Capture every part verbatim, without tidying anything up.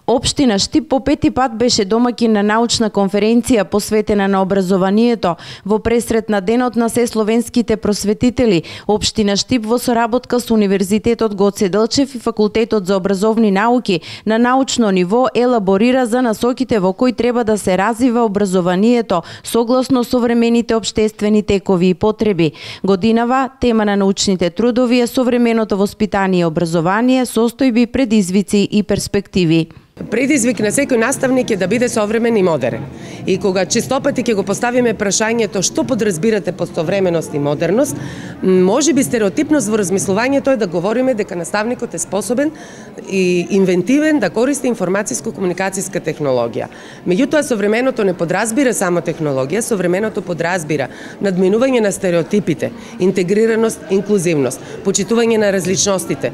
Општина Штип по пети пат беше домаќин на научна конференција посветена на образованието во пресрет на денот на сесловенските просветители. Општина Штип во соработка со Универзитетот Гоце Делчев и Факултетот за образовни науки на научно ниво елаборира за насоките во кои треба да се развива образованието согласно современите општествени текови и потреби. Годинава тема на научните трудови е современото воспитание и образование, состојби, предизвици и перспективи. Предизвик на секој наставник е да биде современ и модерен. И кога честопати ќе го поставиме прашањето што подразбирате под современост и модерност, можеби стереотипност во размислувањето е да говориме дека наставникот е способен и инвентивен да користи информацијско-комуникацијска технологија. Меѓутоа, современото не подразбира само технологија, современото подразбира надминување на стереотипите, интегрираност, инклузивност, почитување на различностите,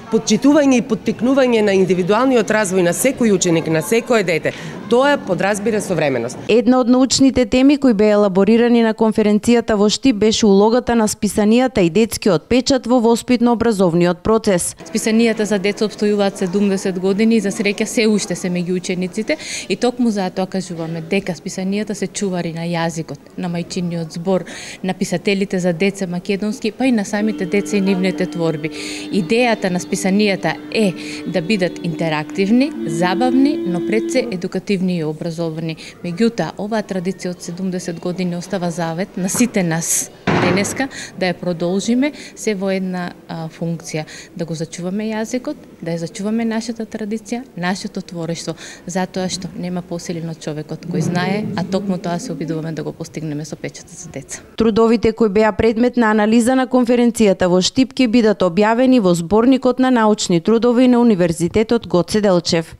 подчитување и поттикнување на индивидуалниот развој на секој ученик, на секое дете. Тоа подразбира современост. Една од научните теми кои беа елаборирани на конференцијата во Штип беше улогата на списанијата и детскиот печат во воспитно-образовниот процес. Списанијата за деца опстојуваат седумдесет години и за среќа се уште се меѓу учениците и токму затоа кажуваме дека списанијата се чувари на јазикот, на мајчиниот збор, на писателите за деца македонски, па и на самите деца и нивните творби. Идејата на списанијата е да бидат интерактивни, забавни, но пред се едукативни и образовани. Меѓутоа, оваа традиција од седумдесет години остава завет на сите нас денеска да ја продолжиме се во една а, функција, да го зачуваме јазикот, да ја зачуваме нашата традиција, нашето творештво, затоа што нема посилен од човекот кој знае, а токму тоа се обидуваме да го постигнеме со печатот за деца. Трудовите кои беа предмет на анализа на конференцијата во Штип ќе бидат објавени во зборникот на научни трудови на Универзитетот Гоце Делчев.